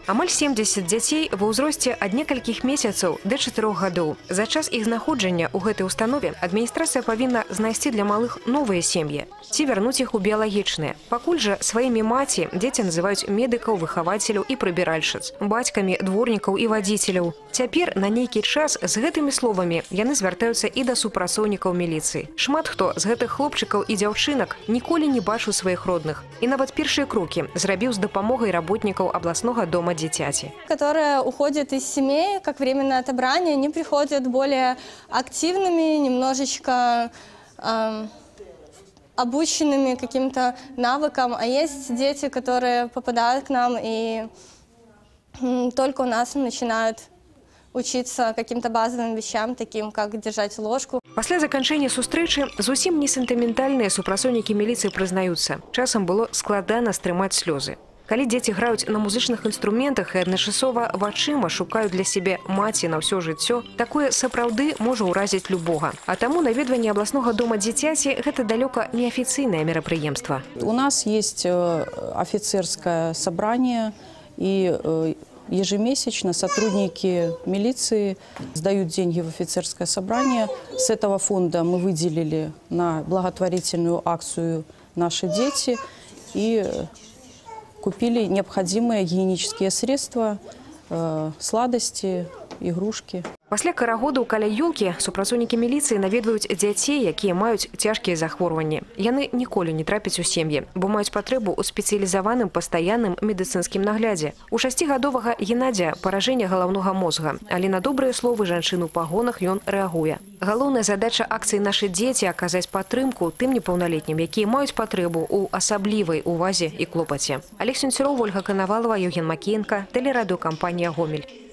Амаль 70 дзяцей ва ўзросце ад некалькіх месяцаў да 4 гадоў. За час іх знаходжання ў гэтай установе адміністрацыя павінна знайсці для малых новыя сем'і ці вярнуць іх у біялагічныя. Пакуль жа сваімі маці дзеці называюць медыкаў, выхавацеляў і прыбіральшчыц, бацькамі, дворнікаў і вадзіцеляў. Цяпер на нейкі час з гэтымі словамі яны звяртаюцца і да супрацоўнікаў міліцыі. Шмат хто з гэтых хлопчыкаў і дзяўчынак ніколі не бачыў сваіх родных і нават першыя крокі зрабіў з дапамогай работнікаў абласнога дома дзіцяці. Которые уходят из семей, как временное отобрание, они приходят более активными, немножечко обученными каким-то навыкам. А есть дети, которые попадают к нам и только у нас начинают учиться каким-то базовым вещам, таким как держать ложку. Пасля заканчэння сустрэчы зусім не сентыментальныя супрацоўнікі міліцыі прызнаюцца. Часам было складана стрымаць слёзы. Калі дзеці граюць на музычных інструментах і адначасова вачыма шукаюць для сябе маці на ўсё жыццё, такое сапраўды можа ўразіць любога. А таму наведванне абласнога дома дзіцяці – гэта далёка не афіцыйнае мерапрыемства. У нас есть офицерское собрание, и ежемесячно сотрудники милиции сдают деньги в офицерское собрание. С этого фонда мы выделили на благотворительную акцию «Наши дети» и купили необходимые гигиенические средства, сладости, игрушки. Пасля карагоду каля ёлкі супрацоўнікі міліцыі наведваюць дзяцей, якія маюць цяжкія захворванні. Яны ніколі не трапяць у сем'і, бо маюць патрэбу ў спецыялізаваным пастаянным медыцынскім наглядзе. У 6гадовага Геннадзя паражэнне галаўнога мозга, але на добрыя словы жанчын у пагонах ён рэагуе. Галоўная задача акцыі «Нашы дзеці» – аказаць падтрымку тым непаўналетнім, якія маюць патрэбу ў асаблівай увазе і клопаце. Олег Сенцюроў, Ольга Коновалова, Евген Макеенко, тэлерадыёкампанія «Гомель».